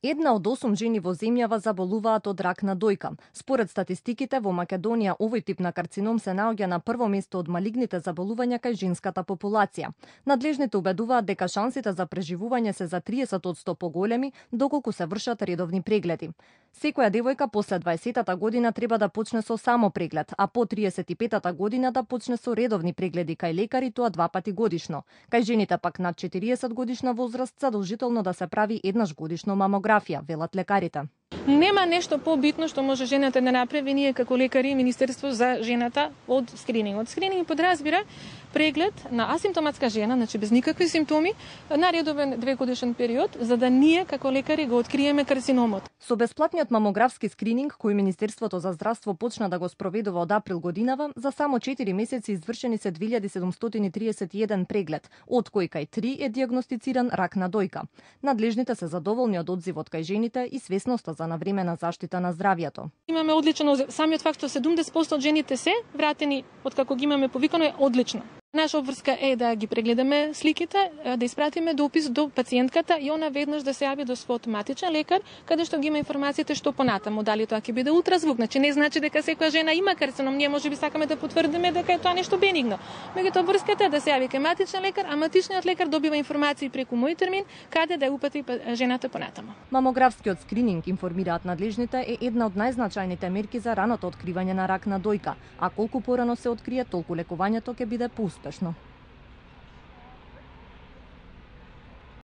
Една од 8 жени во земјава заболуваат од рак на дојка. Според статистиките, во Македонија овој тип на карцином се наоѓа на прво место од малигните заболувања кај женската популација. Надлежните убедуваат дека шансите за преживување се за 30% поголеми доколку се вршат редовни прегледи. Секоја девојка после 20-та година треба да почне со само преглед, а по 35-та година да почне со редовни прегледи кај лекари, тоа 2 пати годишно. Кај жените пак над 40 годишна возраст задолжително да се прави еднаш годишно мамографија, велат лекарите. Нема нешто побитно што може жената да направи ние како лекари и Министерство за жената од скрининг. Од скрининг подразбира преглед на асимптоматска жена, значи без никакви симптоми, на редовен 2-годишен период, за да ние како лекари го откриеме карциномот. Со бесплатниот мамографски скрининг кој Министерството за здравство почна да го спроведува од април годинава, за само 4 месеци извршени се 2731 преглед, од кои кај 3 е диагностициран рак на дојка. Надлежните се задоволни од одзивот кај жените и свесноста за навремена заштита на здравјето. Имаме одличен одзив. Самиот факт што 70% од жените се вратени од како ги имаме повикано е одлично. Наша обврска е да ги прегледаме сликите, да испратиме допис до пациентката и она веднаш да се јави до својот матичен лекар, каде што ги има информациите што понатаму, дали тоа ќе биде ултразвук, значи не значи дека секоја жена има карцином, ние можеби сакаме да потврдиме дека е тоа нешто бенигно. Меѓутоа врската е да се јави кај матичен лекар, а матичниот лекар добива информации преку мој термин каде да ја упати жената понатаму. Мамографскиот скрининг, информираат надлежните, е една од најзначајните мерки за раното откривање на рак на дојка, а колку порано се открие, толку лекувањето ќе биде поуспешно.